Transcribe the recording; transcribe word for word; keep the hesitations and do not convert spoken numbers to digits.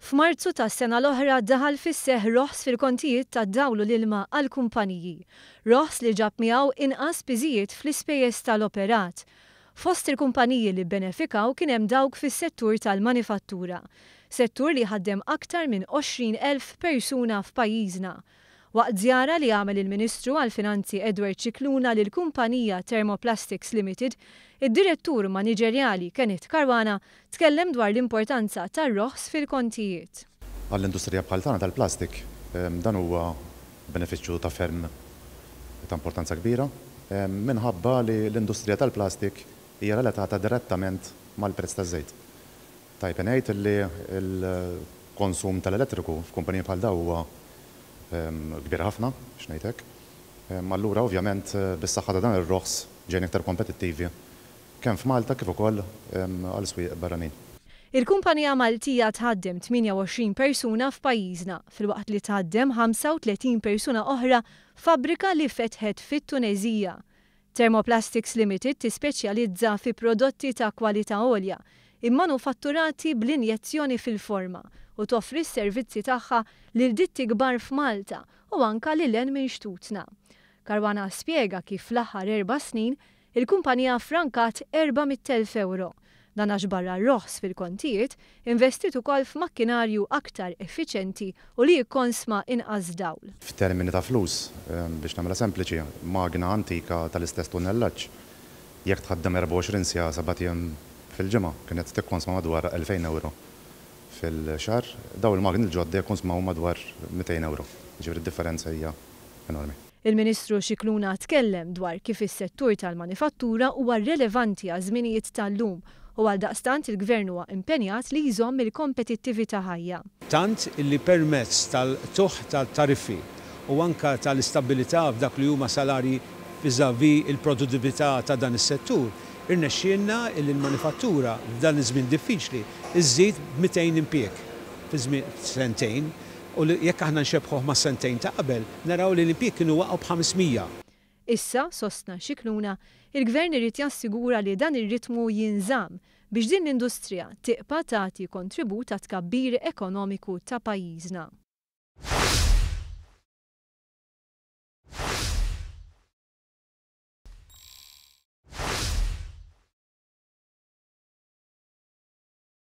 F'Marzu tas-sena l-oħra daħal fis-seħħ roħs fil-kontijiet tad-dawl u l-ilma għall-kumpaniji. Roħs li ġab miegħu inqas piżijiet fl-ispejjeż tal-operat. Fost il-kumpaniji li bbenefikaw kien hemm dawk fis-settur tal-manifattura. Settur li jħaddem aktar minn għoxrin elf persuna f'pajjiżna. Waqt żjara li għamel il-Ministru għall-Finanzi Edward Scicluna lill-kumpanija Thermoplastics Limited, id-direttur maniġerjali Kenneth Caruana tkellem dwar l-importanza tar-roħs fil-kontijiet. Għall-industrija bħal tagħna tal-plastik, dan huwa benefiċċju ta' ferm ta' importanza kbira, minħabba li l-industrija tal-plastik hija relatata direttament mal-prezz taż-żejt. Tajjeb ngħid li l-konsum tal-elettriku f'kumpaniji bħal dawn huwa kbir ħafna, biex ngħid hekk. Allura ovvjament bis-saħħa ta' dan ir-roħs ġejna iktar kompetittivi kemm f'Malta kif ukoll għal swieq barranin. Il-kumpanija Maltija tħaddem tmienja u għoxrin persuna f'pajjiżna, filwaqt li tħaddem ħamsa u tletin persuna oħra f'fabbrika li fetħet fit-Tuneżija. Thermoplastics Limited tispeċjalizza fi prodotti ta' kwalità għolja, immanufatturati bl-injezzjoni fil-forma u toffri s-servizzi tagħha lil ditti kbar f'Malta u anka lil hinn minn xtutna. Caruana spjega kif fl-aħħar erba' snin il-kumpanija frankat erba' mitt elf euro. Dan għax barra r-roħs fil-kontijiet investit ukoll f'makkinarju aktar effiċenti u li jikkonsma inqas dawl. F'termini ta' flus, biex nagħmilha sempliċi, magna antika tal-istess tunnellaġġ, jekk tħaddem erbgħa u għoxrin siegħa sebat ijiem fil-ġimgħa, kienet tikkonsma madwar elfejn euro fil-xahar, daw il-magni l-ġodda jikkonsmaw madwar mitejn euro. Ġifieri d-differenza hija enormi. Il-Ministru Scicluna tkellem dwar kif is-settur tal-manifattura huwa relevanti għaż-żminijiet tal-lum u għal daqstant il-Gvern huwa impenjat li jżomm il-kompetittività ħajja. Tant illi permezz tal-tuħ tal-tariffi u anka tal-istabilità f'dak li huma salarji vis-à-vis il-produttività ta' dan is-settur, irnexxielna illi l-manifattura f'dan iż-żmien diffiċli iżżid b'mitejn impjieg fi żmien sentejn, u li jekk aħna nxebħuh ma' sentejn ta' qabel, naraw li l-impjieg kienu waqgħu b'ħamsmija. Issa, sostna Scicluna, il-Gvern irid jassigura li dan ir-ritmu jinżamm biex din l-industrija tibqa' tagħti kontribut għat-tkabbir ekonomiku ta' pajjiżna.